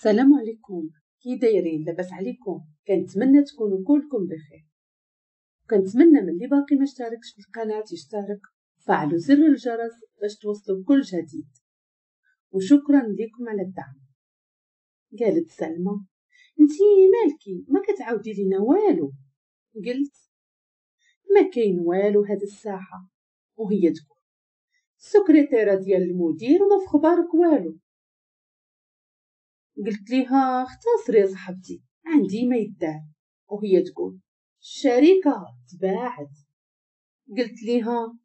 السلام عليكم، كي دايرين؟ لاباس عليكم؟ كنتمنى تكونوا كلكم بخير. كنتمنى من اللي باقي ما اشتركش في القناة يشترك، فعلوا زر الجرس باش توصلوا بكل جديد، وشكرا لكم على الدعم. قالت سلمى: انتي مالكي ما كتعاودي لينا والو؟ قلت: ما كاين والو هاد الساعة. وهي تقول: السكرتيره ديال المدير وما في خبارك والو. قلت ليها: اختصري يا صاحبتي، عندي ما يدار. وهي تقول: الشركة تباعت. قلت ليها: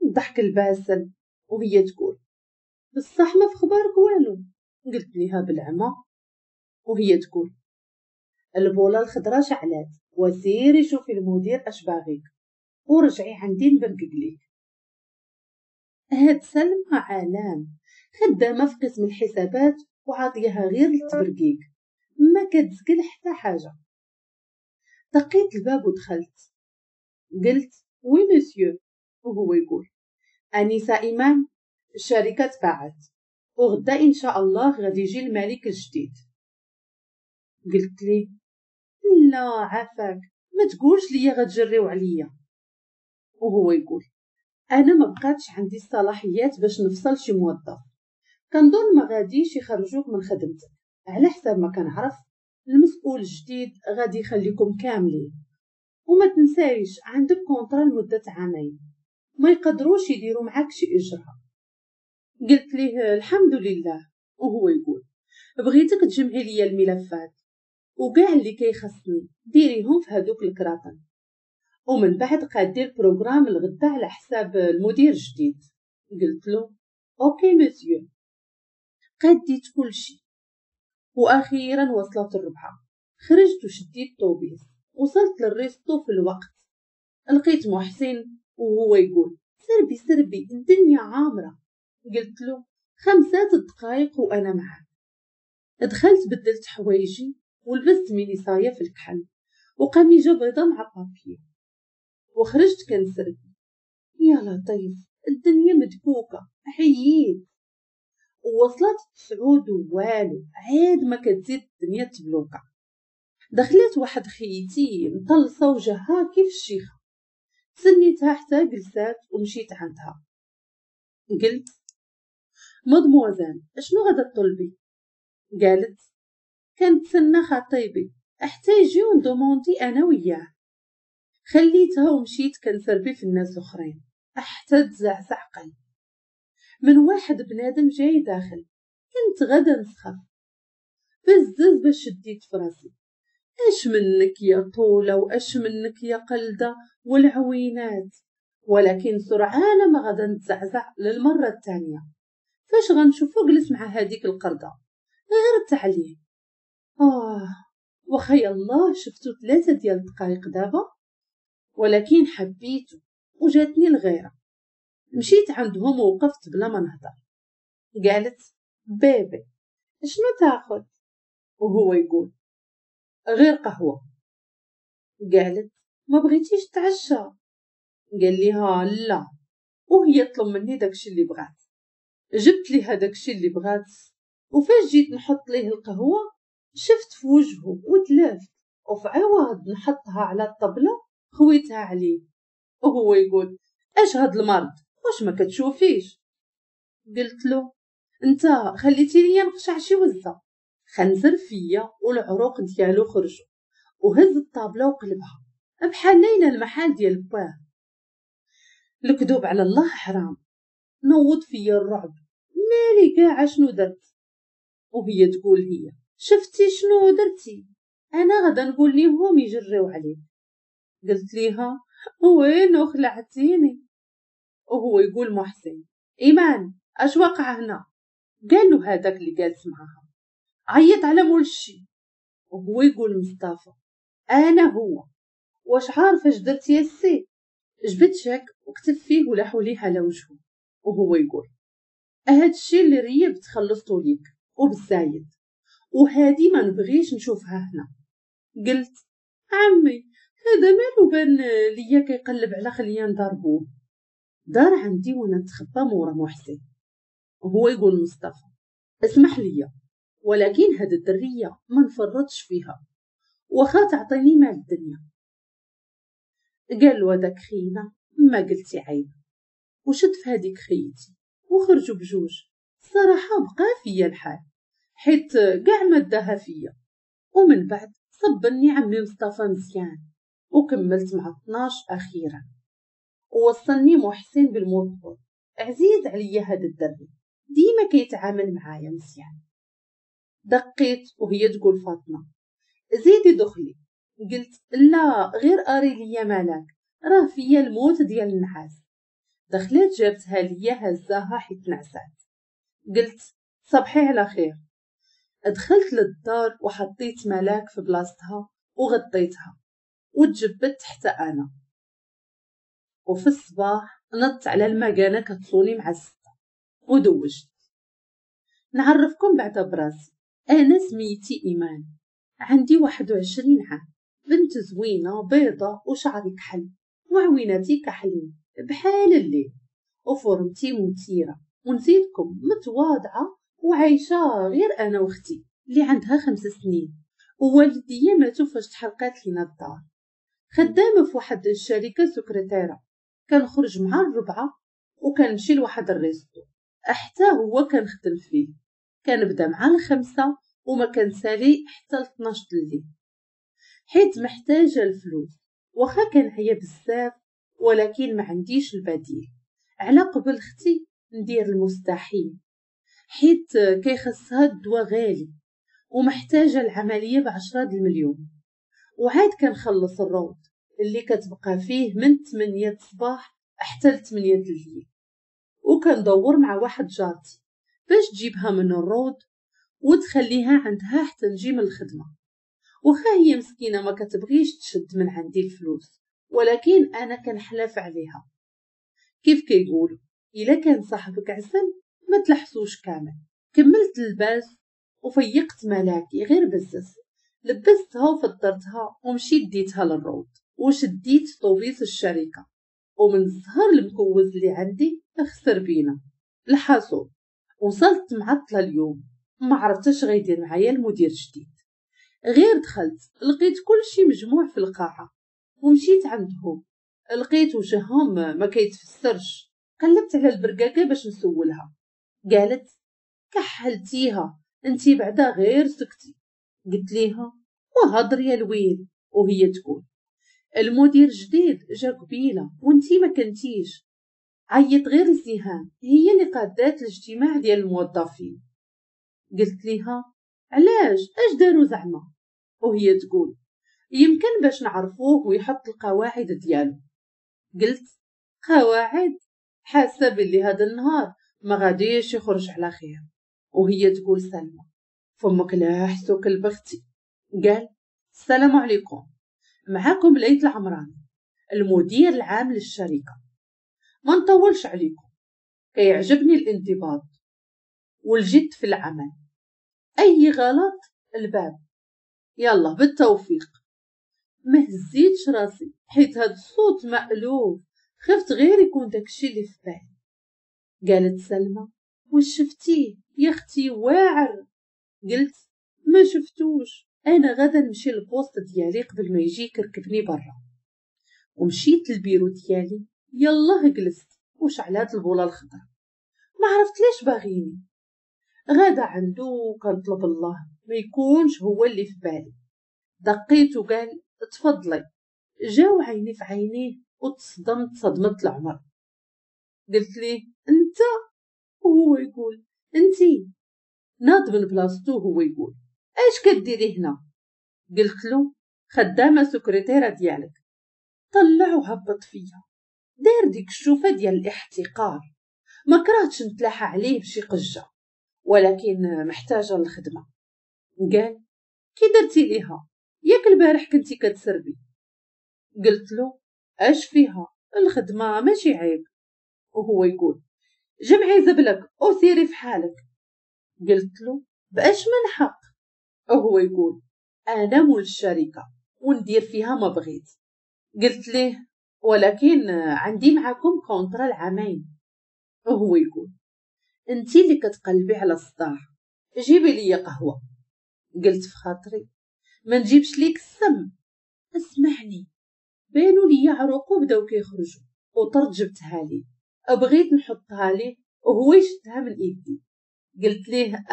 الضحك الباسل. وهي تقول: بصح ما في خبارك والو؟ قلت ليها: بالعمى. وهي تقول: البوله الخضراء شعلات، وسيري شوفي المدير اش باغيك ورجعي عندي نبرقق ليك. هاد سلمى عالم، خدامه في قسم الحسابات وعاطيها غير التبرقيق، ما كتزكل حتى حاجة. دقيت الباب ودخلت، قلت: oui monsieur. وهو يقول: انسه ايمان، الشركة تباعت وغدا ان شاء الله غادي يجي الملك الجديد. قلت لي: لا عافاك، ما تقولش ليا غتجريو عليا. وهو يقول: انا ما بقاتش عندي الصلاحيات باش نفصل شي موظف، كنظن ما غاديش يخرجوك من خدمتك، على حساب ما كنعرف المسؤول الجديد غادي يخليكم كاملين، وما تنسايش عندك contrat لمدة عامين، ما يقدروش يديروا معاك شي اجراء. قلت ليه: الحمد لله. وهو يقول: بغيتك تجمعي لي الملفات وكاع اللي كيخصني ديريهم في هادوك الكراطن، ومن بعد قادير programme الغدا على حساب المدير الجديد. قلت له: OK monsieur. قديت كلشي، واخيرا وصلت الربعه. خرجت وشديت طوبيس، وصلت لل resto في الوقت. لقيت محسن وهو يقول: سربي سربي، الدنيا عامرة. قلت له: 5 دقايق وانا معاك. دخلت بدلت حوايجي ولبست ميني صايه في الكحل وقميجه بيضة مع بابي، وخرجت كنسربي. يا لطيف، الدنيا مدكوكه، حييت. ووصلت 9 والو، عاد ما كتزيد الدنيا تبلوكه. دخلت واحد خيتي مطلصه وجهها كيف الشيخه، سنيتها حتى جلسات ومشيت عندها. قلت: مادموزيل، اشنو غادا تطلبي؟ قالت: كنتسنى خطيبي حتى يجي ون demander انا وياه. خليتها ومشيت كنسربي في الناس الاخرين حتى تزعزع قلبي من واحد بنادم جاي داخل. كنت غدا نسخف بزز باش شديت في راسي. اش منك يا طوله واش منك يا قلده والعوينات. ولكن سرعان ما غدا نتزعزع للمرة الثانية فاش غنشوفو جلس مع هذيك القردة غير التعليم. وخي الله، شفتو 3 ديال الدقائق دابا، ولكن حبيته وجاتني الغيرة. مشيت عندهم ووقفت بلا ما نهضر. قالت: bébé شنو تاخذ؟ وهو يقول: غير قهوة. قالت: ما بغيتيش تعشى؟ قال ليها: لا. وهي طلب مني داكشي اللي بغات. جبت ليها داكشي اللي بغات، وفاش جيت نحط ليه القهوة شفت في وجهه وتلافت، وفي عوض نحطها على الطبلة خويتها عليه. وهو يقول: اش هاد المرض، واش ما كتشوفيش؟ قلت له: انت خليتي ليا نقشع شي وزه. خنزر فيا والعروق ديالو خرجوا، وهز الطابله وقلبها بحال لينا المحل ديال باه. الكذوب على الله حرام. نوض فيا الرعب، مالي كاع شنو درت؟ وهي تقول: هي شفتي شنو درتي؟ انا غدا نقول ليهم يجريو عليك. قلت ليها: وين خلعتيني؟ وهو يقول محسن: ايمان اش وقع هنا؟ قال له هذاك اللي جالس معاها: عيط على مول الشي. وهو يقول مصطفى: انا هو. واش عارف اش درت يا سي؟ جبت شاك وكتب فيه ولاحوا ليه على وجهه. وهو يقول: هاد الشي اللي ريبت خلصتو ليك وبالزايد، وهادي ما نبغيش نشوفها هنا. قلت: عمي هذا مالو بان ليا كيقلب على خليان ضربوه. دار عندي وانا نتخبى مورا محسن. وهو يقول مصطفى: اسمح ليا، ولكن هاد الدريه ما نفرطش فيها واخا تعطيني مال الدنيا. قال له هذاك خينا ما قلتي عيب، وشد في هذيك خيتي وخرجوا بجوج. الصراحة بقى فيا الحال حيت كاع ما داها فيا. ومن بعد صبني عمي مصطفى مزيان وكملت مع 12 اخيرا، ووصلني محسن بالموطور. عزيز عليا هذا الدري، ديما كيتعامل معايا مزيان. دقيت وهي تقول فاطمة زيدي دخلي. قلت لا غير اري ليا مالك، راه فيا الموت ديال النعاس. دخلت جابتها ليا هزاها حيت نعسات. قلت صبحي على خير. دخلت للدار وحطيت ملاك في بلاصتها وغطيتها وتجبدت حتى انا. وفي الصباح نط على المكانة كتصوني مع 6 ودوجت. نعرفكم بعد براسي، انا سميتي ايمان، عندي 21 عام، بنت زوينة بيضة وشعري كحل وعويناتي كحلين بحال الليل، وفورمتي مثيرة، ونزيدكم متواضعة وعايشة غير انا واختي اللي عندها 5 سنين، ووالديا ماتوا فاش تحرقات لينا الدار. خدامه في واحد الشركة سكرتيره، كنخرج مع 4 وكنمشي لواحد ال resto حتى هو كنخدم فيه، كنبدا مع 5 وما كنسالي حتى 12 الليل، حيت محتاجه الفلوس. واخا كنعيا بزاف ولكن ما عنديش البديل، على قبل اختي ندير المستحيل، حيت كيخصها الدواء غالي ومحتاجة العملية ب10 المليون. وعاد كنخلص الروض اللي كتبقى فيه من 8 الصباح حتى 8 الليل، وكندور مع واحد جارتي باش تجيبها من الروض وتخليها عندها حتى نجي من الخدمة. واخا هي مسكينه ما كتبغيش تشد من عندي الفلوس، ولكن انا كنحلف عليها. كيف كيقولوا الا كان صاحبك عسل ما تلحسوش كامل. كملت اللباس وفيقت ملاكي غير بزز، لبستها وفطرتها ومشيت ديتها للروض وشديت طوبيس الشركة. ومن الزهر المكوز اللي عندي خسر بينا الحاصول. وصلت معطلة اليوم، ما عرفتش غيدير معايا المدير الجديد. غير دخلت لقيت كل شيء مجموع في القاعة، ومشيت عندهم لقيت وجههم ما كيتفسرش. قلبت على البرقاقه باش نسولها، قالت كحلتيها انتي بعدا غير سكتي. قلت ليها وهضر يا الويل، وهي تقول المدير جديد جا قبيلة وانتي ما كنتيش. عيط غير لسهام هي اللي قادات الاجتماع ديال الموظفين. قلت ليها علاش اش داروا زعما؟ وهي تقول يمكن باش نعرفوه ويحط القواعد ديالو. قلت قواعد؟ حاسه باللي هذا النهار ما غاديش يخرج على خير. وهي تقول سلمى فمك لا حسوك البختي. قال السلام عليكم، معاكم ليث العمراني المدير العام للشركة. ما نطولش عليكم، كيعجبني الانضباط والجد في العمل، اي غلط الباب، يلا بالتوفيق. ما هزيتش راسي حيت هاد الصوت مألوف، خفت غير يكون داكشي اللي في بالي. قالت سلمى واش شفتيه يا اختي واعر؟ قلت ما شفتوش، انا غدا نمشي لل poste ديالي قبل ما يجي يكركبني برا. ومشيت للبيرو ديالي، يلاه جلست وشعلات البوله الخضراء، ما عرفت ليش باغيني. غدا عندو كنطلب الله ما يكونش هو اللي في بالي. دقيت وقال تفضلي. جاو عيني في عينيه وتصدمت صدمة العمر. قلت ليه انت؟ وهو يقول انتي. ناض من بلاصتو وهو يقول اش كديري هنا؟ قلت له خدامه سكرتيره ديالك. طلع وهبط فيا، دار ديك الشوفه ديال الاحتقار. ما كرهتش نتلاحى عليه بشي قجه، ولكن محتاجه للخدمة. قال كي درتي ليها؟ ياك البارح كنتي كتسربي. قلت له اش فيها الخدمة ماشي عيب. وهو يقول جمعي زبلك وسيري في حالك. قلت له باش من حق؟ وهو يقول انا مول الشركة وندير فيها ما بغيت. قلت ليه ولكن عندي معكم contrat العامين. وهو يقول انتي اللي كتقلبي على الصداع، جيبي لي قهوة. قلت في خاطري ما نجيبش ليك السم. اسمعني، بانوا لي عروقو بداو كيخرجوا وطرت جبتها ليه، بغيت نحطها ليه وهو يشدها من ايدي. قلت ليه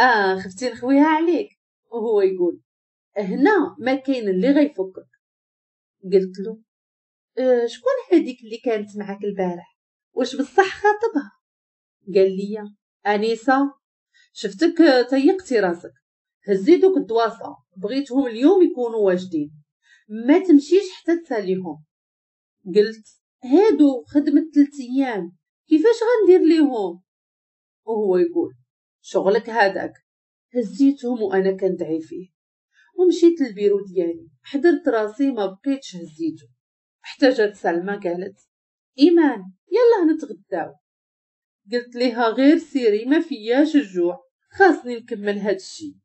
خفتي نخويها عليك، وهو يقول هنا ما كاين اللي غيفكك. قلت له شكون هذيك اللي كانت معاك البارح، واش بصح خاطبها؟ قال لي انيسة شفتك تيقتي راسك، هزي دوك الدواسه بغيتهم اليوم يكونوا واجدين، ما تمشيش حتى تساليهم. قلت هادو خدمة 3 ايام كيفاش غندير ليهم؟ وهو يقول شغلك هذاك. هزيتهم وانا كندعي فيه ومشيت للبيرو ديالي، حضرت راسي ما بقيتش هزيته. حتى جات سلمى قالت ايمان يلا نتغداو. قلت ليها غير سيري ما فياش الجوع، خاصني نكمل هاد الشي،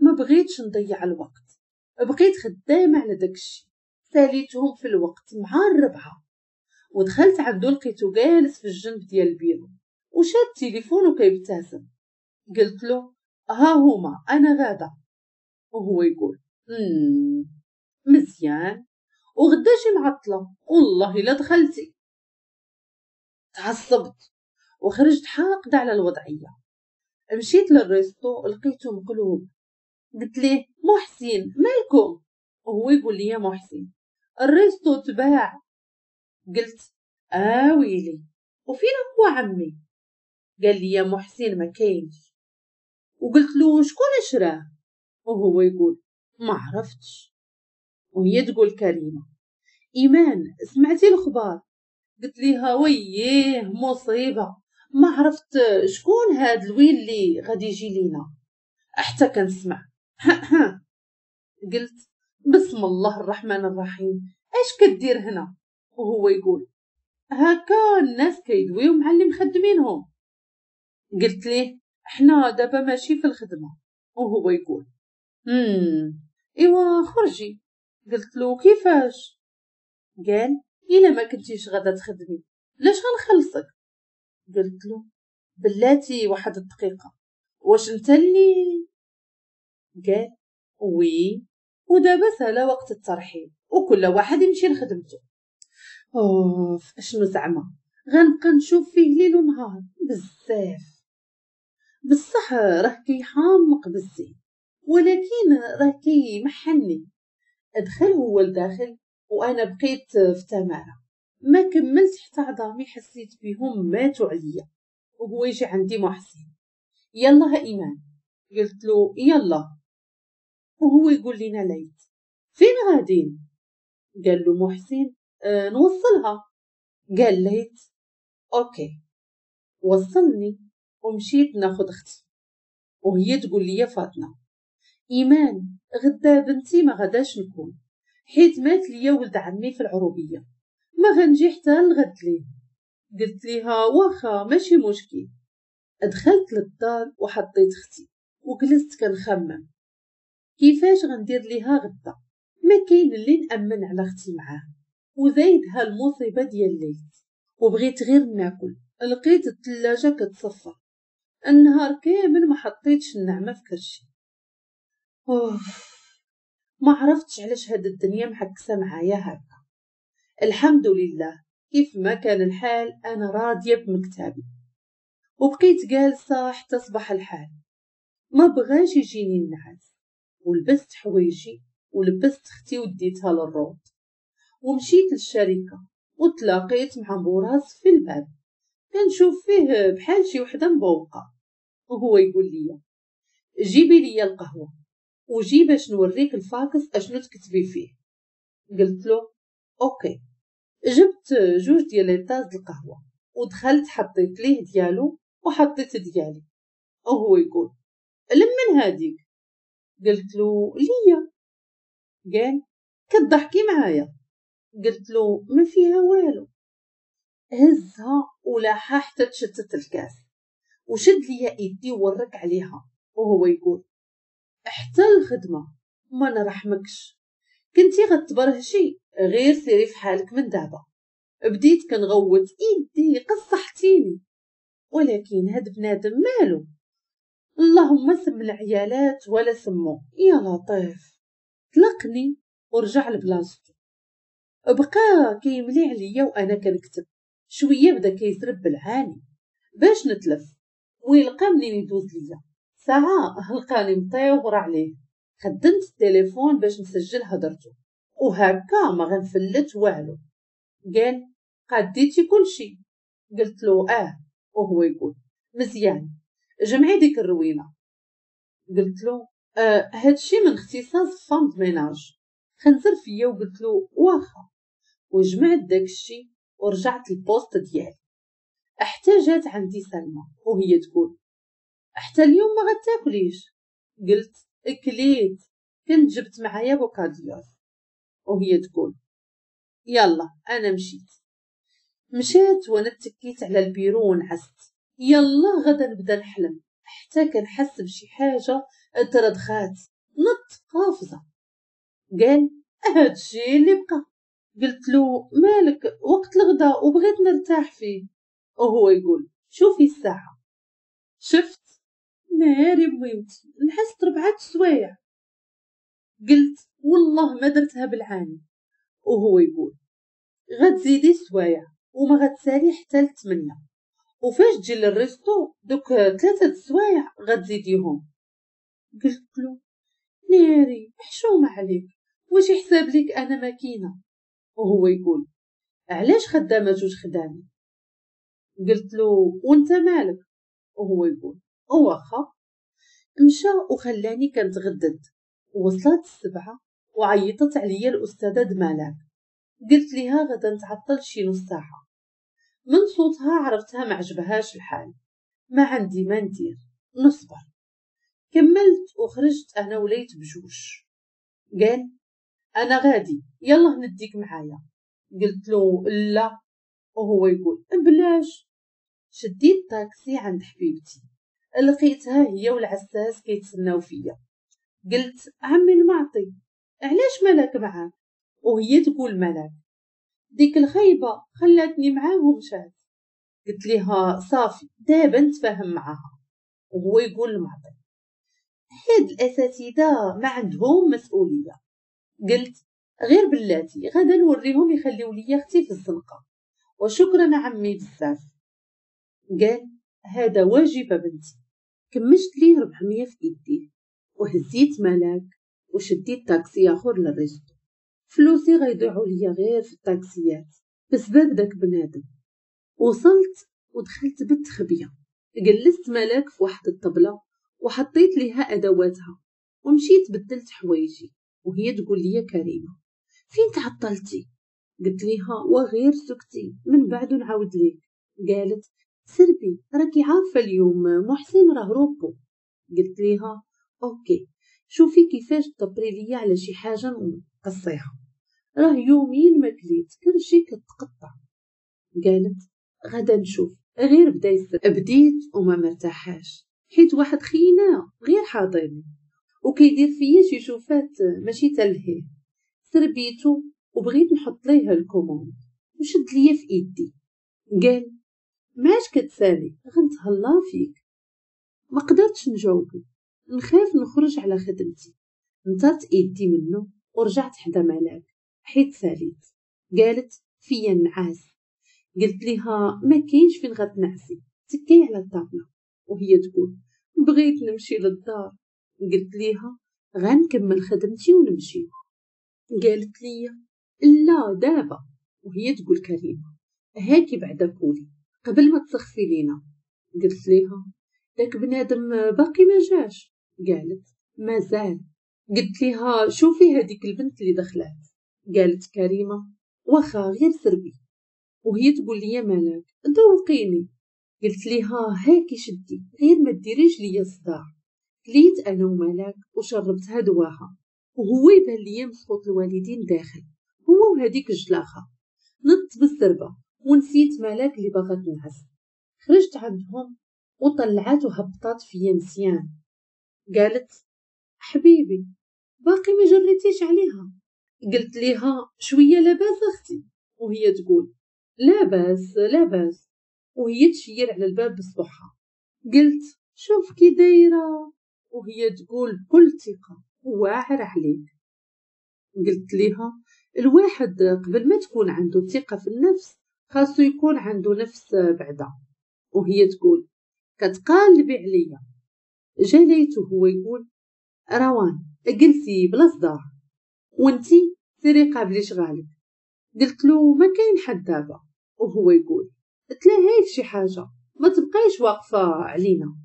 ما بغيتش نضيع الوقت. بقيت خدامه على داك الشي، ساليتهم في الوقت مع 4 ودخلت عنده لقيته جالس في الجنب ديال البيرو وشاد تليفون وكيبتسم. قلت له ها هما انا غاده، وهو يقول مزيان وغدا شي معطلة والله الا دخلتي. تعصبت وخرجت حاقده على الوضعية. مشيت لل resto لقيته مقلوب. قلت ليه محسن مالكم؟ وهو يقول لي محسن ال resto تباع. قلت ويلي وفين هو عمي؟ قال لي يا محسن ما كاينش. وقلت له شكون شراه؟ وهو يقول ما عرفتش. وهي تقول كريمة ايمان سمعتي الخبار؟ قلت ليها وييه مصيبة، ما عرفت شكون هاد الويل اللي غادي يجي لينا. حتى كنسمع قلت بسم الله الرحمن الرحيم اش كدير هنا؟ وهو يقول هكا الناس كيدويو مع اللي مخدمينهم. قلت ليه حنا دابا ماشي في الخدمة. وهو يقول ايوا خرجي. قلت له كيفاش؟ قال الا ما كنتيش غادا تخدمي لاش غنخلصك؟ قلت له بلاتي واحد الدقيقة، واش انت اللي؟ قال oui. ودابا سالا وقت الترحيب وكل واحد يمشي لخدمته. اوف اشنو زعما غنبقى نشوف فيه ليل ونهار بزاف. بصح راه كيحامق بزاف، ولكن راه كيمحني. ادخل هو لداخل وانا بقيت في تماره، ما كملت حتى عظامي حسيت بهم ماتوا عليا. وهو يجي عندي محسن يلا ايمان. قلت له يلا. وهو يقول لنا ليت فين غادين؟ قال له محسن نوصلها. قال ليت okay. وصلني ومشيت ناخذ اختي، وهي تقول لي فاطمة ايمان غدا بنتي ما غداش نكون، حيت مات ليا ولد عمي في العروبية، ما غنجي حتى الغد ليه. قلت ليها واخا ماشي مشكل. دخلت للدار وحطيت اختي وجلست كنخمم كيفاش غندير ليها غدا، ما كاين اللي نامن على اختي معاه، وزايدها المصيبة ديال الليل. وبغيت غير ناكل، لقيت الثلاجة كتصفى النهار كامل ما حطيتش النعمة في كرشي. اوف ما عرفتش علاش هاد الدنيا محكسه معايا هكا. الحمد لله كيف ما كان الحال انا راضية بمكتبي. وبقيت جالسة حتى صبح الحال، ما بغاش يجيني النعاس. ولبست حوايجي ولبست اختي وديتها للروض ومشيت للشركة وتلاقيت مع بوراس في الباب، كنشوف فيه بحال شي وحده مبوقه. وهو يقول لي جيبي لي القهوة وجي باش نوريك الفاكس اشنو تكتبي فيه. قلت له okay. جبت 2 ديال les tasses القهوة ودخلت حطيت ليه ديالو وحطيت ديالي. وهو يقول لمن هاديك؟ قلت له ليا. قال كتضحكي معايا؟ قلت له ما فيها والو. هزها ولاحها حتى تشتت الكاس وشد ليا ايدي وورك عليها. وهو يقول حتى الخدمة ما نرحمكش، كنتي غتبرهشي غير سيري في حالك من دابا. بديت كنغوت ايدي قصحتيني، ولكن هاد بنادم مالو اللهم سم العيالات ولا سمو، يا لطيف. طلقني ورجع لبلاصتو، بقى كيملي عليا وانا كنكتب. شوية بدا كيزرب بالعاني باش نتلف ويلقى منين يدوز ليا. ساعة لقاني مطيور عليه. خدمت التليفون باش نسجل هضرته، وهكا ما غنفلت والو. قال قديتي كلشي؟ قلت له اه. وهو يقول مزيان، جمعي ديك الروينه. قلت له هادشي من اختصاص femme de ménage. خنزر فيا وقلت له واخا، وجمعت داكشي ورجعت ال poste ديالي. حتى جات عندي سلمى وهي تقول حتى اليوم ما غتاكليش؟ قلت كليت، كنت جبت معايا bocadillos. وهي تقول يلا انا مشيت. مشيت وانا تكيت على البيرو ونعست. يلا غدا نبدا نحلم، حتى كنحس بشي حاجة تردخات، نط قافزه. قال هادشي اللي بقى. قلت له مالك، وقت الغدا وبغيت نرتاح فيه. وهو يقول شوفي الساعة. شفت ناري بويمتي، نحست 4 سوايع. قلت والله ما درتها بالعاني. وهو يقول غتزيدي سوايع وما غتسالي حتى 8، وفاش تجي لل resto دوك 3 سوايع غتزيديهم. قلت له ناري حشومه عليك، واش يحسب لك انا ماكينة؟ وهو يقول علاش خدامه 2 خدامي؟ قلت له وانت مالك؟ وهو يقول واخا. مشى وخلاني كنتغدد. وصلت 7 وعيطت عليا الاستاذة دمالك. قلت ليها غدا نتعطل شي نص ساعة. من صوتها عرفتها ما عجبهاش الحال. ما عندي ما ندير، نصبر. كملت وخرجت انا وليت بجوج. قال انا غادي، يلا نديك معايا. قلت له لا. وهو يقول بلاش. شديت طاكسي عند حبيبتي، لقيتها هي والعساس كيتسناو فيا. قلت عمي المعطي علاش ملاك معاك؟ وهي تقول ملاك ديك الخيبه خلاتني معاه ومشات. قلت ليها صافي دابا نتفاهم معاها. وهو يقول المعطي هاد الاساتذة ما عندهم مسؤولية. قلت غير بلاتي غدا نوريهم يخليو ليا اختي في الزنقة، وشكرا عمي بزاف. قال هذا واجب بنتي. كمشت ليه 400 في ايديه وهزيت ملاك وشديت طاكسي اخر لل resto. فلوسي غيضيعوا ليا غير في الطاكسيات بسبب داك بنادم. وصلت ودخلت بالتخبيه، جلست ملاك في واحد الطبلة وحطيت ليها ادواتها ومشيت بدلت حوايجي. وهي تقول لي كريمة فين تعطلتي؟ قلت ليها وغير سكتي من بعد نعاود ليك. قالت سربي راكي عارفه اليوم محسن راه repos. قلت ليها OK شوفي كيفاش تدبري ليا على شي حاجة نقصيها، راه يومين ما كليت كلشي كتقطع. قالت غدا نشوف، غير بدا يسر. بديت وما مرتاحاش حيت واحد خينا غير حاضرني وكيدير فيا شي شوفات ماشي تلهيه. سربيتو وبغيت نحط ليه ال commande وشد ليا في ايدي. قال ماش كتسالي غنتهلا فيك. ما قدرتش نجاوبو، نخاف نخرج على خدمتي. نطرت ايدي منه ورجعت حدا ملاك حيت ساليت. قالت فيا النعاس. قلت ليها ما كاينش فين غتنعسي، تكي على الطابله. وهي تقول بغيت نمشي للدار. قلت ليها غنكمل خدمتي ونمشي. قالت لي لا دابا. وهي تقول كريمة هاكي بعدا كولي قبل ما تسخفي لينا. قلت ليها داك بنادم باقي ما جاش. قالت مازال. قلت ليها شوفي هذيك البنت اللي دخلات. قالت كريمة واخا غير سربي. وهي تقول لي مالك ذوقيني. قلت ليها هاكي شدي غير ما ديريش ليا الصداع. كليت انا وملاك وشربتها دواها، وهو يبان ليا مسخوط الوالدين داخل هو وهذيك الجلاخه. نط بالسربه ونسيت ملاك اللي باغا تنعس. خرجت عندهم وطلعات وهبطات فيا مزيان. قالت حبيبي باقي ما جريتيش عليها؟ قلت ليها شوية لاباس اختي. وهي تقول لاباس لاباس، وهي تشير على الباب بصبعها. قلت شوف كي دايرة. وهي تقول بكل ثقة واعر عليك. قلت ليها الواحد قبل ما تكون عنده ثقة في النفس خاصو يكون عنده نفس بعدا. وهي تقول كتقالبي عليا. جاليت وهو يقول روان جلسي بلا صداع وانتي سيري قابلي شغالك. قلت له ما كاين حد دابا. وهو يقول تلاهي في شي حاجة، ما تبقايش واقفة علينا.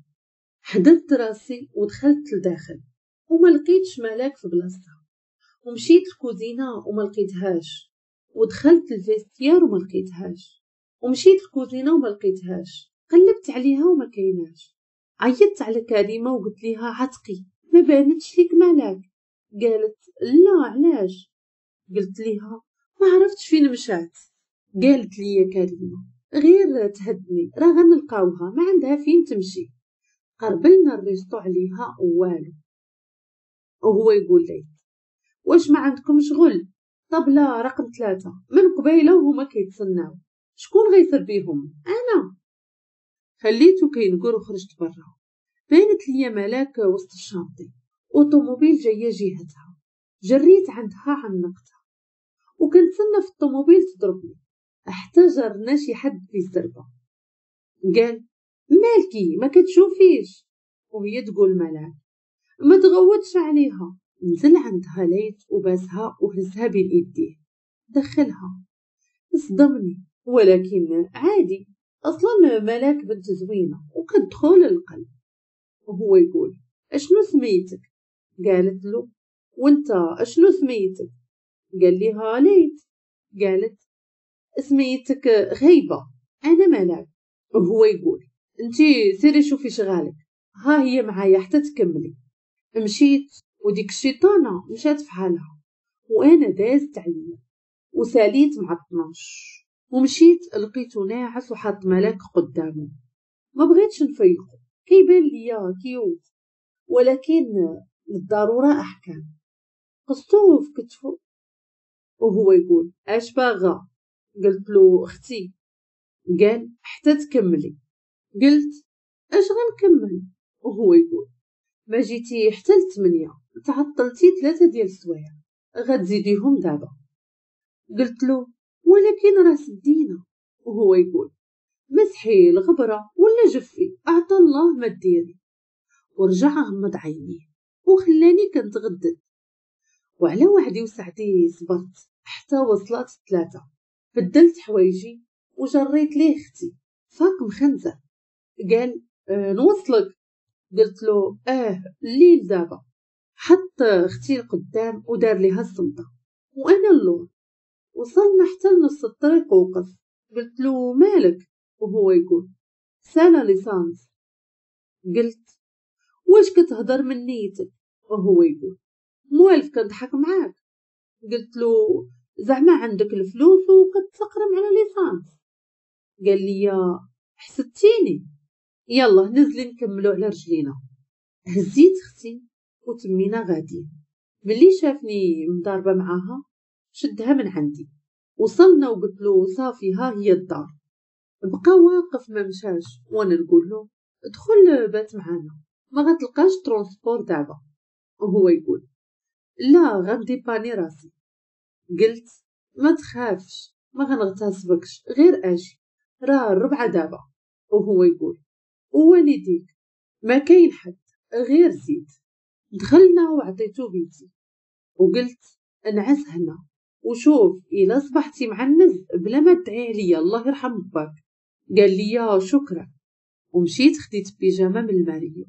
حدرت راسي ودخلت لداخل وما لقيتش ملاك في بلاصتها، ومشيت الكوزينة وما لقيتهاش، ودخلت ال vestiaire وما لقيتهاش، ومشيت الكوزينة وما لقيتهاش، قلبت عليها وما كايناش. عيطت على كريمة وقلت ليها عتقي ما بانتش ليك ملاك. قالت لا علاش؟ قلت ليها ما عرفتش فين مشات. قالت لي كريمة غير تهدني راه غنلقاوها، ما عندها فين تمشي. قربلنا ال resto عليها والو. وهو يقول لي واش ما عندكم شغل؟ طبلة رقم 3 من قبيلة وهما كيتسناو، شكون غيسر بيهم؟ انا. خليته كينقر وخرجت برا. بانت لي ملاك وسط ال chantier وطوموبيل جاية جهتها. جريت عندها عنقتها وكنتسنى في الطوموبيل تضربني. حتى جرنا شي حد في الزربه. قال مالكي ما كتشوفيش؟ وهي تقول ملاك ما تغوتش عليها. نزل عندها ليت وباسها وهزها بين ايديه دخلها. صدمني ولكن عادي، اصلا ملاك بنت زوينة وكتدخل القلب. وهو يقول اشنو سميتك؟ قالت له وانت اشنو سميتك؟ قال لها ليت. قالت سميتك غيبه، انا ملاك. وهو يقول انتي سيري شوفي شغالك، ها هي معايا حتى تكملي. مشيت وديك الشيطانه مشات في حالها وانا دازت عليا وساليت مع 12 ومشيت. لقيته ناعس وحاط ملاك قدامه. ما بغيتش نفيقو، كيبان ليا cute، ولكن للضرورة احكام. قصتو في كتفو وهو يقول اش باغا؟ قلت له اختي. قال حتى تكملي. قلت اش غنكمل؟ وهو يقول ما جيتي حتى 8، تعطلتي 3 ديال السوايع، غتزيديهم دابا. قلت له ولكن راه سدينا. وهو يقول مسحي الغبرة ولا جفي، اعطى الله ما ديري. ورجع غمض عينيه وخلاني كنتغدد. وعلى وعدي وسعدي صبرت حتى وصلت 3. بدلت حوايجي وجريت ليه اختي. فاق مخنزر قال نوصلك. قلت له الليل دابا. حط اختي القدام ودار ليها الصمته وانا اللور. وصلنا حتى لنص الطريق ووقف. قلت له مالك؟ وهو يقول سالا l'essence. قلت واش كتهضر من نيتك؟ وهو يقول موالف كنضحك معاك. قلت له زعما عندك الفلوس وكتقرم على l'essence. قال لي حسدتيني، يلا نزلي نكملو على رجلينا. هزيت اختي وتمينا غاديين. ملي شافني مضاربة معاها شدها من عندي. وصلنا وقلت له صافي ها هي الدار. بقى واقف ما مشاش وانا نقول له ادخل بات معانا، ما غتلقاش transport دابا. وهو يقول لا غنديباني راسي. قلت ما تخافش ما غنغتصبكش، غير اجي راه 4 دابا. وهو يقول ووالديك ما كاين حد غير زيد. دخلنا وعطيتو بيتي وقلت انعس هنا وشوف الا صبحتي معنز بلا ما تدعي عليا الله يرحم باك. قال لي شكرا. ومشيت خديت بيجامه من الماريو،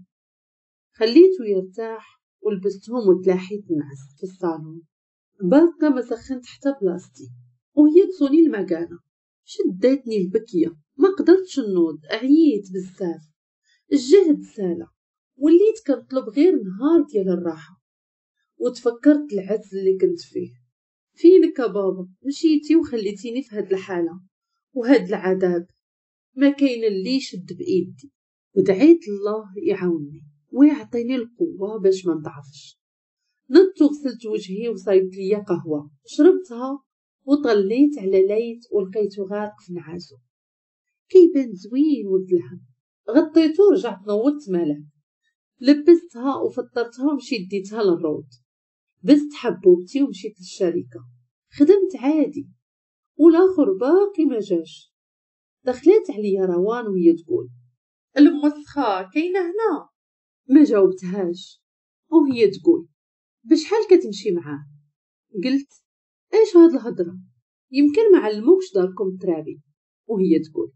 خليته يرتاح ولبستهم وتلاحيت نعس في الصالون. باقا ما سخنت حتى بلاصتي وهي تصوني المكانة. شدتني البكيه ما قدرتش نوض، عييت بزاف، الجهد سالا، وليت كنطلب غير نهار ديال الراحة. وتفكرت العز اللي كنت فيه. فينك يا بابا؟ مشيتي وخليتيني في هاد الحالة وهاد العذاب، ما كاين اللي يشد بايدي. ودعيت الله يعاونني ويعطيني القوة باش ما نضعفش. نضت وغسلت وجهي وصايبت ليا قهوة شربتها وطليت على ليت ولقيته غارق في نعاسو. كيبان زوين ولد الهم، غطيتو ورجعت نوضت ملاك، لبستها وفطرتها ومشيت ديتها للروض. بست حبوبتي ومشيت للشركة، خدمت عادي والاخر باقي ما جاش. دخلت عليا روان وهي تقول المسخه كاينه هنا. ما جاوبتهاش وهي تقول بشحال كتمشي معاه؟ قلت ايش هاد الهضرة، يمكن ما علموكش داركم ترابي. وهي تقول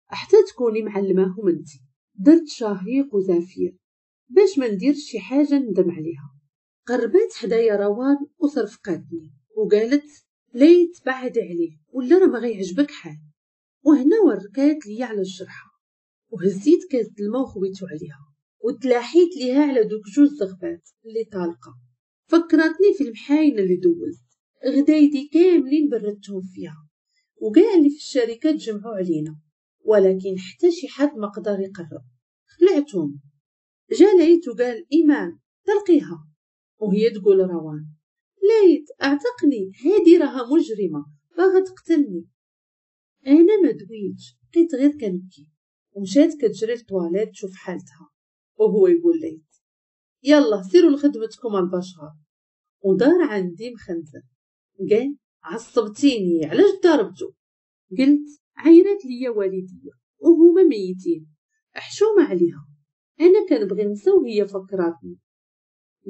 حتى تكوني معلماهم انتي. درت شهيق وزفير باش ما نديرش شي حاجة ندم عليها. قربت حدايا روان وصرفقاتني وقالت ليت بعد عليه ولا راه ما غيعجبك حال. وهنا وركات لي على الجرحه وهزيت كاس الماء وخويتو عليها وتلاحيت ليها على دوك جوج زغبات اللي طالقه. فكرتني في المحاينه اللي دوزت، غدايدي كاملين بردتهم فيها وكاع اللي في الشركة تجمعوا علينا، ولكن حتى شي حد ما قدر يقرب. خلعتهم. جا ليت وقال ايمان تلقيها، وهي تقول روان ليت اعتقني، هادي راها مجرمه باغا تقتلني. انا ما دويتش، بقيت غير كنبكي. ومشات كتجري للطواليت تشوف حالتها، وهو يقول ليت يلا سيروا لخدمتكم البشر. ودار عندي مخنزر قال عصبتيني علاش ضربتو؟ قلت عيرات ليا والديا وهما ميتين، حشومه عليها، انا كنبغي نسى وهي فكراتني.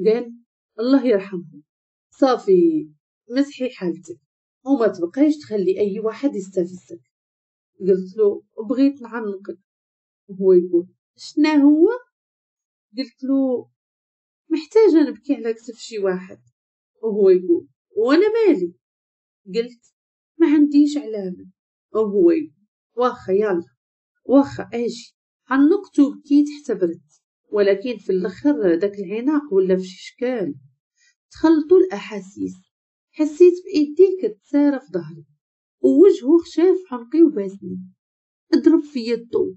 قال الله يرحمهم، صافي مسحي حالتك وما تبقايش تخلي اي واحد يستفزك. قلت له بغيت نعنقك، وهو يقول شنا هو؟ قلت له محتاجه نبكي على كتف شي واحد، وهو يقول وانا مالي؟ قلت ما عنديش علامة، وهو يقول واخا يلا واخا اجي. عنقته وبكيت حتى بردت، ولكن في الاخر داك العناق ولا في شي شكال، تخلطوا الاحاسيس. حسيت بايديه كتسارى في ظهري ووجهه خشاف عنقي وباسني، اضرب فيا الضو،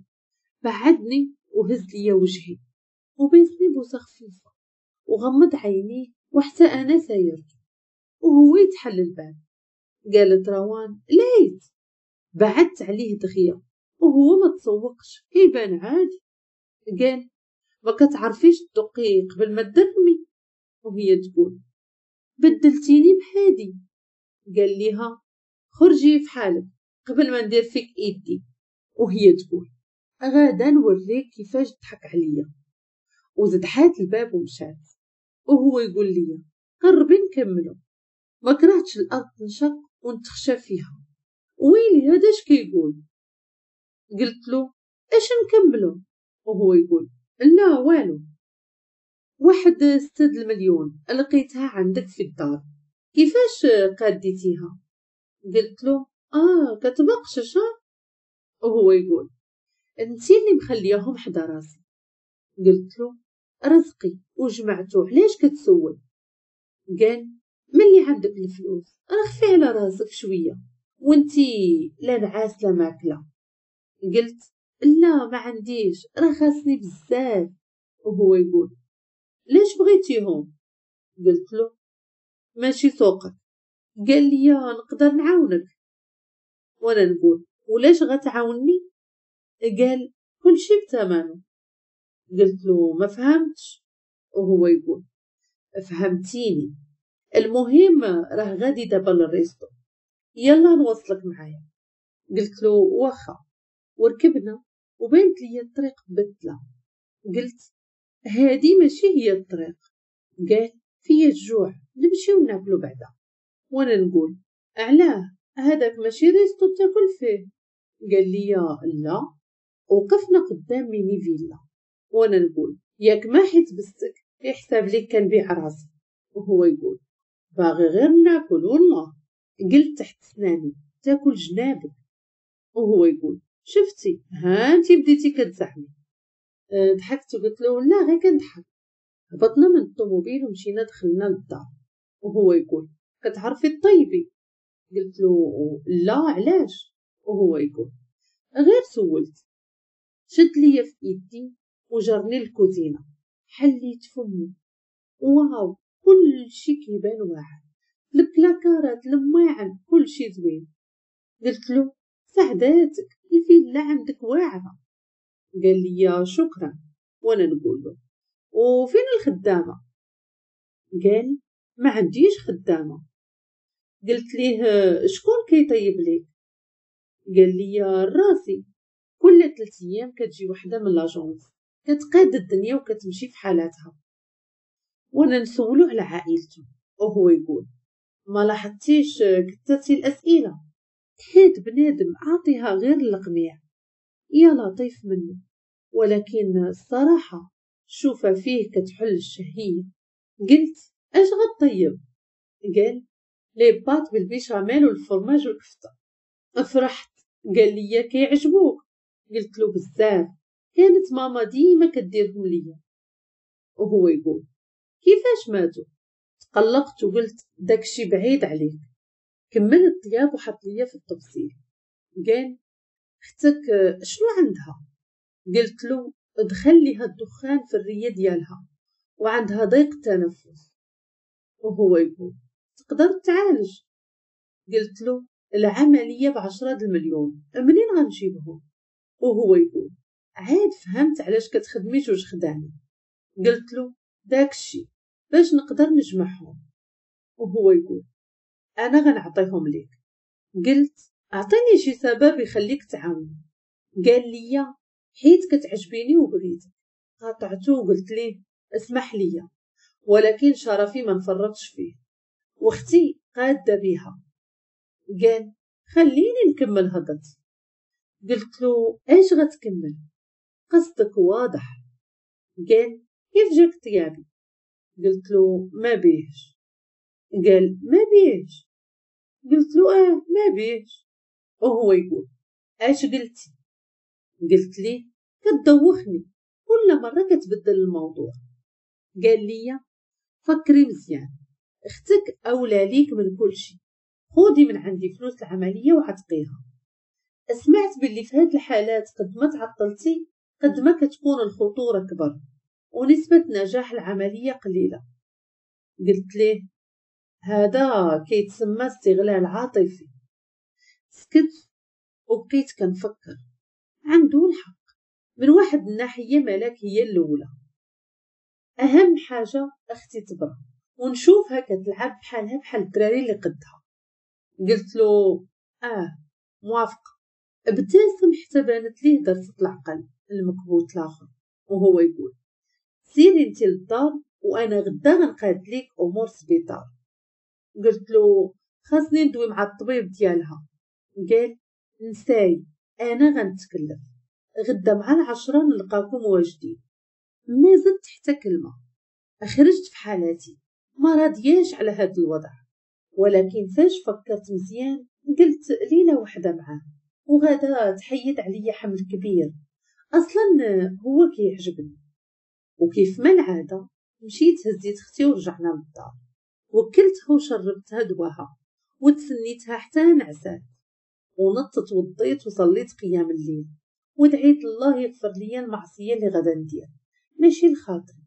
بعدني وهز ليا وجهي وباسني بوسه خفيفة وغمض عينيه، وحتى انا سايرته وهو يتحل الباب. قالت روان ليت. بعدت عليه دغيا وهو ما تسوقش، كيبان عادي. قال ما كتعرفيش تدقي قبل ما تدرمي؟ وهي تقول بدلتيني بهادي. قال ليها خرجي في حالك قبل ما ندير فيك ايدي. وهي تقول غادا نوريك كيفاش تضحك عليا. وزدحات الباب ومشات، وهو يقول لي قربي نكملو. ما كرهتش الارض تنشق ونتخشى فيها. ويلي هذا اش كيقول؟ قلت له اش نكملو؟ وهو يقول لا والو، واحد 6 المليون لقيتها عندك في الدار، كيفاش قاديتيها؟ قلت له كتبقشش. وهو يقول انتي اللي مخلياهم حدا راسي. قلت له رزقي وجمعته، علاش كتسول؟ قال ملي عندك الفلوس رخفي على راسك شوية، وانتي لا نعاس لا ماكله. قلت لا ما عنديش، راه خاصني بزاف. وهو يقول ليش بغيتيهم؟ قلت له ماشي سوقك. قال لي نقدر نعاونك، وانا نقول ولاش غتعاوني؟ قال كل شي بثمنه. قلت له ما فهمتش، وهو يقول فهمتيني، المهم راه غادي دابا لل resto، يلا نوصلك معايا. قلت له واخا، وركبنا وبانت لي الطريق مبدله. قلت هادي ماشي هي الطريق. قال فيا الجوع نمشيو ناكلو بعدا. وانا نقول علاه هذاك ماشي resto تاكل فيه؟ قال لي لا. وقفنا قدام mini villa، وانا نقول ياك ما حيت بستك يحسب ليك كنبيع راسي. وهو يقول باغي غير ناكل والله. قلت تحت سناني تاكل جنابك. وهو يقول شفتي ها انتي بديتي كتزعمي. ضحكت وقلت له لا غير كنضحك. هبطنا من الطوموبيل ومشينا دخلنا للدار، وهو يقول كتعرفي الطيبي؟ قلت له لا علاش؟ وهو يقول غير سولت. شد ليا في ايدي وجرني للكوزينه، حليت فمي، واو كل شي كيبان واحد، البلاكارات الماعن كل شي زوين. قلت له سعداتك الفيلا عندك واعرة. قال لي شكرا، وانا نقول له وفين الخدامة؟ قال ما عنديش خدامه. قلت ليه شكون كيطيب ليك؟ قال لي راسي، كل 3 ايام كتجي وحده من l'agence كتقاد الدنيا وكتمشي في حالاتها. وانا نسولو على عائلته وهو يقول ما لاحظتيش كثرتي الاسئلة؟ حيت بنادم عاطيها غير القميع، يا لطيف منه. ولكن الصراحة شوفه فيه كتحل الشهية. قلت اش غطيب؟ قال les pâtes بال béchamel والفرماج والكفته. فرحت. قال لي كيعجبوك؟ قلت له بزاف، كانت ماما ديما كديرهم ليا. وهو يقول كيفاش ماتوا؟ تقلقت وقلت داكشي بعيد عليك. كمل الطياب وحط ليا في التفصيل. قال اختك شنو عندها؟ قلت له دخل ليها الدخان في الريه ديالها وعندها ضيق تنفس. وهو يقول تقدر تعالج؟ قلت له العملية ب10 المليون، منين غنجيبهم؟ وهو يقول عاد فهمت علاش كتخدمي 2 خدامي. قلت له داكشي باش نقدر نجمعهم. وهو يقول انا غنعطيهم ليك. قلت اعطيني شي سبب يخليك تعاوني. قال لي حيت كتعجبيني وبغيتك. قاطعته وقلت ليه اسمح لي، ولكن شرفي ما نفرطش فيه، واختي قاده بيها. قال خليني نكمل هضرتي. قلت له اش غتكمل؟ قصدك واضح. قال كيف جاك طيابي؟ قلت له ما بيهش. قال ما بيهش؟ قلت له ما بيهش. وهو يقول اش قلتي؟ قلت ليه كتدوخني كل مرة كتبدل الموضوع. قال لي فكري مزيان، اختك اولى ليك من كل شيء، خودي من عندي فلوس العملية وعتقيها. سمعت باللي في هاد الحالات قد ما تعطلتي قد ما كتكون الخطورة كبر ونسبه نجاح العملية قليله. قلت ليه هذا كيتسمى استغلال عاطفي. سكت وبقيت كنفكر، عنده الحق من واحد الناحية، ملاك هي الاولى، اهم حاجة اختي تبرا ونشوفها كتلعب بحالها بحال الدراري اللي قدها. قلت له موافقة. ابتسم حتى بانت ليه درسة العقل المكبوت الاخر، وهو يقول سيري انتي للدار وانا غدا غنقاد ليك امور سبيطار. قلت له خاصني ندوي مع الطبيب ديالها. قال نساي انا غنتكلف، غدا مع 10 نلقاكم واجدين. ما زدت حتى كلمة، خرجت في حالاتي ما راضياش على هذا الوضع. ولكن فاش فكرت مزيان قلت ليلة وحده معاه وغدا تحيد عليا حمل كبير، اصلا هو كيعجبني. وكيف ما العادة مشيت هزيت اختي ورجعنا للدار، وكلتها وشربتها دواها وتسنيتها حتى نعسات، ونطت وضيت وصليت قيام الليل ودعيت الله يغفر لي المعصية اللي غدا ندير ماشي لخاطري.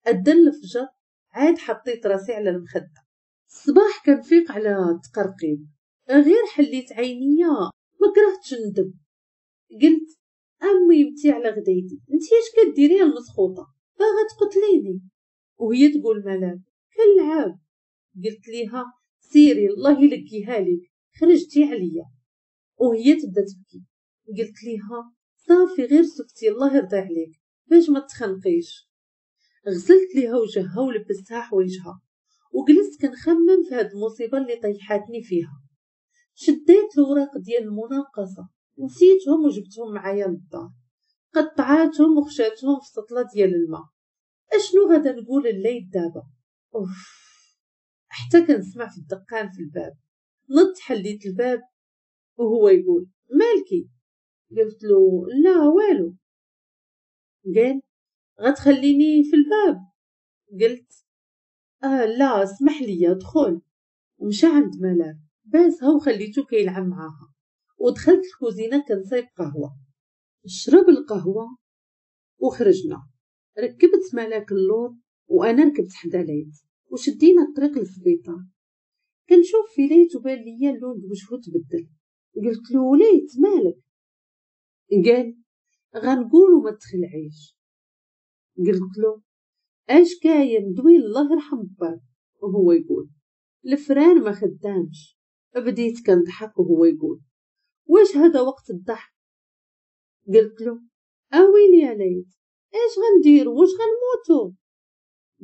أدن الفجر عاد حطيت راسي على المخدة. الصباح كنفيق على التقرقيب، غير حليت عينيا ما كرهتش ندب. قلت امي متي على غدايتي، انتي اش كديري المسخوطه باغا تقتليني؟ وهي تقول ملاك كنلعب. قلت ليها سيري الله يلقيها لك، خرجتي عليا. وهي تبدا تبكي. قلت ليها صافي غير سكتي الله يرضي عليك باش ما تخنقيش. غسلت ليها وجهها ولبستها حوايجها وجلست كنخمم في هاد المصيبة اللي طيحاتني فيها. شديت الوراق ديال المناقصه نسيتهم وجبتهم معايا للدار، قطعاتهم وخشاتهم في سطله ديال الماء. اشنو غادا نقول الليل دابا؟ اوف. حتى كنسمع في الدقان في الباب. نط حليت الباب وهو يقول مالكي؟ قلت له لا والو. قال غتخليني في الباب؟ قلت لا اسمح لي ادخل. ومشى عند ملاك باسها وخليته كيلعب معاها، ودخلت الكوزينة كنصايب قهوة. شرب القهوة وخرجنا. ركبت ملاك اللور وانا ركبت حدا ليت وشدينا الطريق للسبيطار. كنشوف في ليت وبان ليا اللون بوجهو تبدل. قلت له ليت مالك؟ قال غنقولوا ما تخلعيش. قلت له اش كاين دوي الله يرحم باك. وهو يقول ال frein ما خدامش. بديت كنضحك وهو يقول واش هذا وقت الضحك؟ قلت له اويلي يا ليت، اش غندير؟ واش غنموتو؟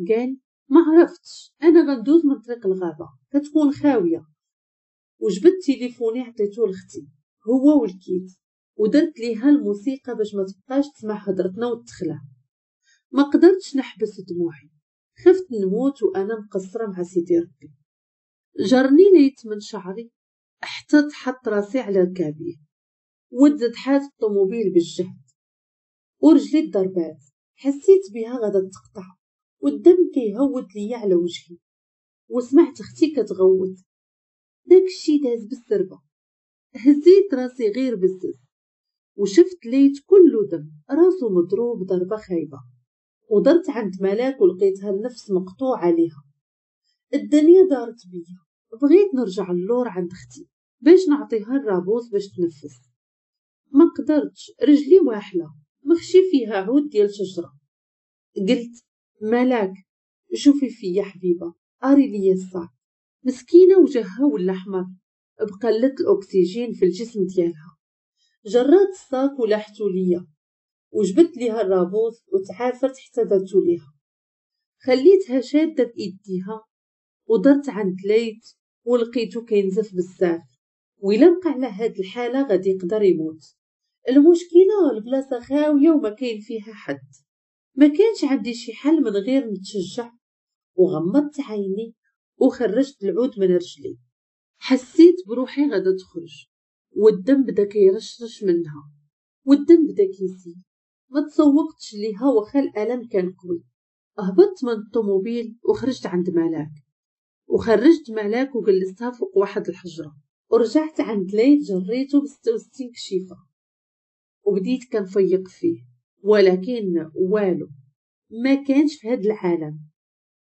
قال ما عرفتش، انا غندوز من طريق الغابة كتكون خاوية. وجبت تليفوني عطيته لختي هو والكيت، ودرت ليها الموسيقى باش ما تبقاش تسمع هضرتنا وتخلع. ما قدرتش نحبس دموعي، خفت نموت وانا مقصرة مع سيدي ربي. جرني ليت من شعري حتى تحط راسي على ركابيه، وتزدحات الطوموبيل بالجهد ورجلي الضربات، حسيت بها غادا تقطع والدم كيهود ليا على وجهي. وسمعت اختي كتغوت، داكشي داز بالسربه. هزيت راسي غير بزز وشفت ليت كله دم، راسو مضروب ضربه خايبة. ودرت عند ملاك ولقيتها النفس مقطوع عليها. الدنيا دارت بيا، بغيت نرجع اللور عند اختي باش نعطيها الرابوز باش تنفس، ما قدرتش، رجلي واحله مخشي فيها عود ديال شجرة. قلت ملاك شوفي فيا حبيبه، اري ليا ال sac. مسكينه وجهها ولا احمر بقلة الاكسجين في الجسم ديالها. جرات ال sac ولاحتو ليا، وجبت ليها الرابوز وتعافرت حتى درتو ليها. خليتها شاده بايديها ودرت عند ليت ولقيتو كينزف بزاف، وإلا بقى على هاد الحالة غادي يقدر يموت. المشكلة البلاصة خاوية وما كاين فيها حد، ما كانش عندي شي حل من غير نتشجع. وغمضت عيني وخرجت العود من رجلي، حسيت بروحي غادا تخرج، والدم بدا كيرشرش منها والدم بدا كيسيل. ما تسوقتش ليها واخا الالم كان قوي. هبطت من الطوموبيل وخرجت عند ملاك، وخرجت ملاك وجلستها فوق واحد الحجرة. ورجعت عند ليل جريته ب66 كشيفه وبديت كنفيق فيه، ولكن والو، ما كانش في هاد العالم.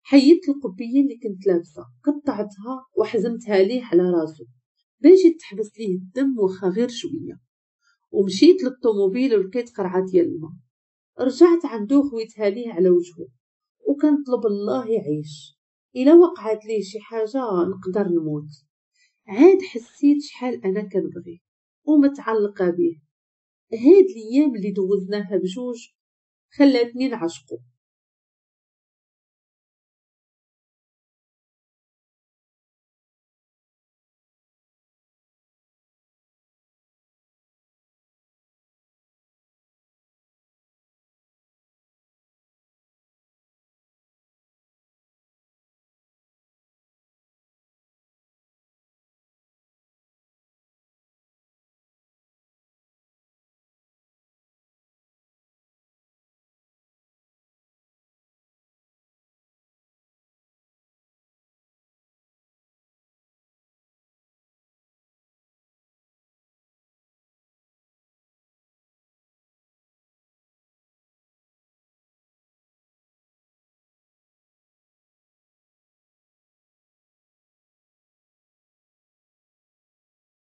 حيدت القبيه اللي كنت لابسه، قطعتها وحزمتها ليه على راسو باش يتحبس ليه الدم واخا غير شوية. ومشيت للطوموبيل ولقيت قرعه ديال الماء، رجعت عنده خويتها ليه على وجهه وكنطلب الله يعيش، الا وقعت ليه شي حاجة نقدر نموت. عاد حسيت شحال انا كنبغيه ومتعلقه به. هاد الايام اللي دوزناها بجوج خلاتني نعشقو.